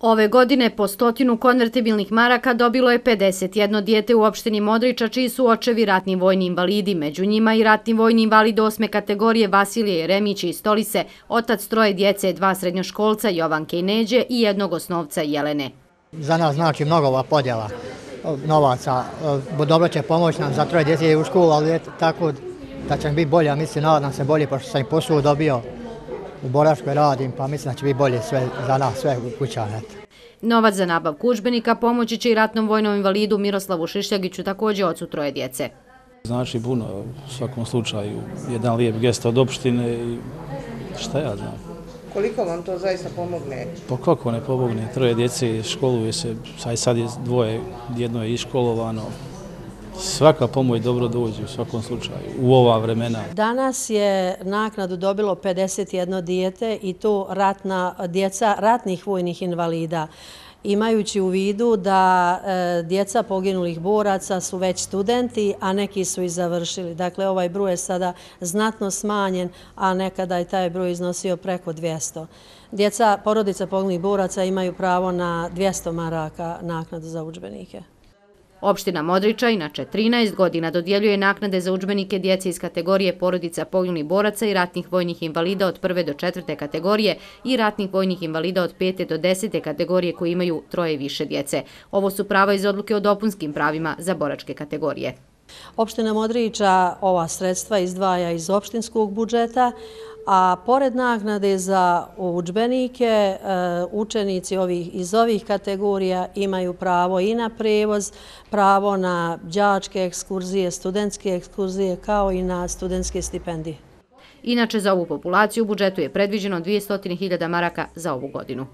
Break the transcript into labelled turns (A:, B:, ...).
A: Ove godine po 100 konvertibilnih maraka dobilo je 51 dijete u opštini Modriča, čiji su očevi ratni vojni invalidi, među njima i ratni vojni invalid 8. kategorije Vasilije Jeremić iz Stolice, otac 3 djece, 2 srednjoškolca Jovanke i Neđe i 1 osnovca Jelene.
B: Za nas znači mnogo ova podjela novaca. Dobro će pomoći nam za 3 djece u školu, ali tako da će mi biti bolje, mislim, nadam se bolje, pošto sam i posao dobio. U Boračkoj radim, pa mislim da će biti bolje sve za nas, sve u kućama.
A: Novac za nabavku udžbenika pomoći će i ratnom vojnom invalidu Miroslavu Šišljagiću, također ocu 3 djece.
C: Znači puno, u svakom slučaju, jedan lijep gest od opštine i šta ja znam.
D: Koliko vam to zaista pomogne?
C: Pa kako ne pomogne, 3 djece školuje se, sad je 2, jedno je iškolovano. Svaka pomoć dobro dođe u svakom slučaju, u ova vremena.
E: Danas je naknadu dobilo 51 dijete i to djeca ratnih vojnih invalida. Imajući u vidu da djeca poginulih boraca su već studenti, a neki su i završili. Dakle, ovaj broj je sada znatno smanjen, a nekada je taj broj iznosio preko 200. Djeca porodica poginulih boraca imaju pravo na 200 maraka naknadu za udžbenike.
A: Opština Modriča inače 13 godina dodjeljuje naknade za udžbenike djece iz kategorije porodica poginulih boraca i ratnih vojnih invalida od 1. do 4. kategorije i ratnih vojnih invalida od 5. do 10. kategorije koji imaju 3 i više djece. Ovo su prava iz odluke o dopunskim pravima za boračke kategorije.
E: Opština Modriča ova sredstva izdvaja iz opštinskog budžeta, a pored naknade za udžbenike, učenici iz ovih kategorija imaju pravo i na prevoz, pravo na đačke ekskurzije, studentske ekskurzije, kao i na studentske stipendije.
A: Inače, za ovu populaciju u budžetu je predviđeno 200.000 maraka za ovu godinu.